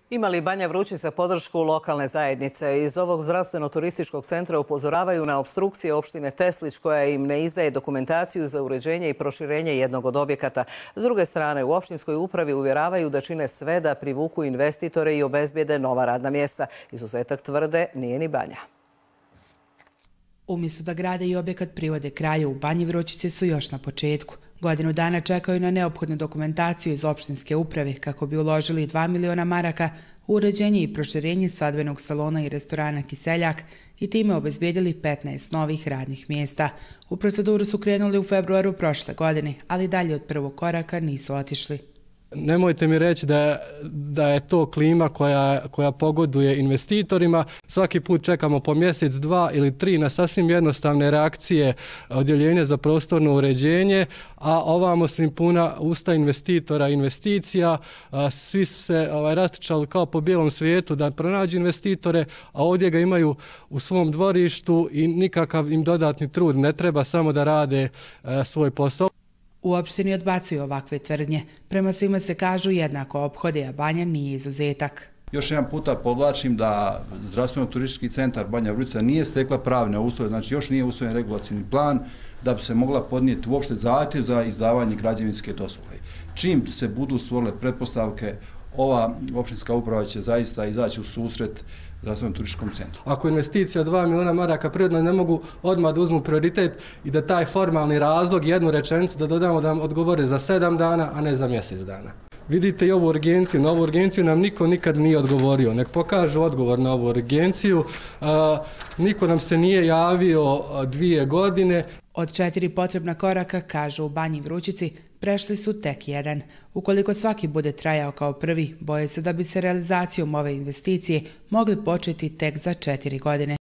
Ima li Banja Vrućica podršku lokalne zajednice? Iz ovog zdravstveno-turističkog centra upozoravaju na opstrukcije opštine Teslić koja im ne izdaje dokumentaciju za uređenje i proširenje jednog od objekata. S druge strane, u opštinskoj upravi uvjeravaju da čine sve da privuku investitore i obezbijede nova radna mjesta. Izuzetak tvrde nije ni Banja. Umjesto da grade i objekat privode kraju, u Banji Vrućici su još na početku. Godinu dana čekaju na neophodnu dokumentaciju iz opštinske uprave kako bi uložili 2 miliona maraka u uređenje i proširenje svadbenog salona i restorana Kiseljak i time obezbijedili 15 novih radnih mjesta. U proceduru su krenuli u februaru prošle godine, ali dalje od prvog koraka nisu otišli. Nemojte mi reći da je to klima koja pogoduje investitorima. Svaki put čekamo po mjesec, 2 ili 3 na sasvim jednostavne reakcije odjeljenja za prostorno uređenje, a ovamo su im puna usta investitora i investicija. Svi su se rastrčali kao po bijelom svijetu da pronađu investitore, a ovdje ga imaju u svom dvorištu i nikakav im dodatni trud ne treba, samo da rade svoj posao. U opštini odbacuju ovakve tvrdnje. Prema svima se kažu jednako ophode, a Banja nije izuzetak. Još jedan puta podvlačim da zdravstveno-turistički centar Banja Vrućica nije stekla pravne uslove, znači još nije usvojen regulacijni plan da bi se mogla podnijeti uopšte zahtjev za izdavanje građevinske dozvole. Čim se budu stvorile pretpostavke, ova opštinska uprava će zaista izaći u susret zdravstveno-turističkom centru. Ako investicija 2 miliona maraka prirodno ne mogu odmah da uzmu prioritet i da taj formalni razlog, jednu rečenicu da dodamo da nam odgovore za 7 dana, a ne za mjesec dana. Vidite i ovu urgenciju. Na ovu urgenciju nam niko nikad nije odgovorio. Nek pokažu odgovor na ovu urgenciju. Niko nam se nije javio 2 godine. Od 4 potrebna koraka, kažu u Banji Vrućici, prešli su tek jedan. Ukoliko svaki bude trajao kao prvi, boje se da bi se realizacijom ove investicije mogli početi tek za 4 godine.